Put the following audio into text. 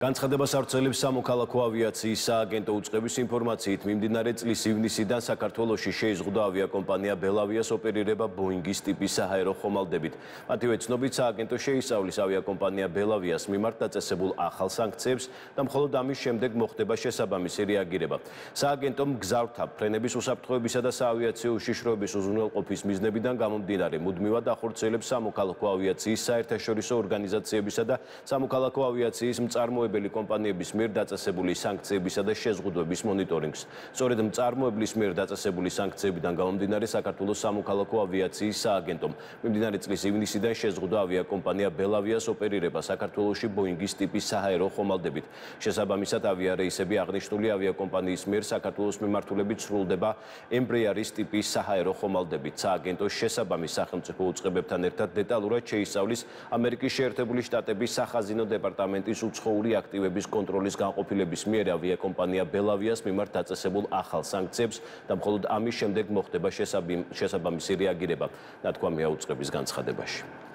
განცხადებას ავრცელებს სამოქალაქო ავიაციის სააგენტო უწყების ინფორმაციით, მიმდინარე წლის ივნისიდან საქართველოში შეიზღუდა ავიაკომპანია ბელავიას ოპერირება ბოინგის ტიპის საჰაერო ხომალდებით. მათივე ცნობით, სააგენტო შეისწავლის ავიაკომპანია ბელავიას მიმართ დაწესებულ ახალ სანქციებს და მხოლოდ ამის შემდეგ მოხდება შესაბამისი რეაგირება. სააგენტომ მგზავრთა ფრენების უსაფრთხოებისა და საავიაციო უშიშროების უზრუნველყოფის მიზნებიდან გამომდინარე, მუდმივად ახორციელებს სამოქალაქო ავიაციის საერთაშორისო ორგანიზაციებისა და სამოქალაქო ავიაციის მწარმოებელი კომპანიების მიერ დაწესებული სანქციებისა და შეზღუდვების მონიტორინგს. სწორედ მწარმოებლის მიერ დაწესებული სანქციებიდან გამომდინარე, საქართველოს სამოქალაქო ავიაციის სააგენტომ მიმდინარე წლის ივნისიდან შეზღუდა ავიაკომპანია ბელავიას ოპერირება საქართველოში ბოინგის ტიპის საჰაერო ხომალდებით. შესაბამისად, ავიარეისები აღნიშნული ავიაკომპანიის მიერ საქართველოს მიმართულებით სრულდება ემბრეარის ტიპის საჰაერო ხომალდებით. სააგენტოს შესაბამის სახელმწიფო უწყებებთან ერთად დეტალურად შეისწავლის ამერიკის შეერთებული შტატების სახაზინო დეპარტამენტის უცხოური აქტივების კონტროლის განყოფილების მიერ ავიაკომპანია ბელავიას მიმართ დაწესებულ ახალ სანქციებს და მხოლოდ ამის შემდეგ მოხდება შესაბამისი რეაგირება, ნათქვამია უწყების განცხადებაში.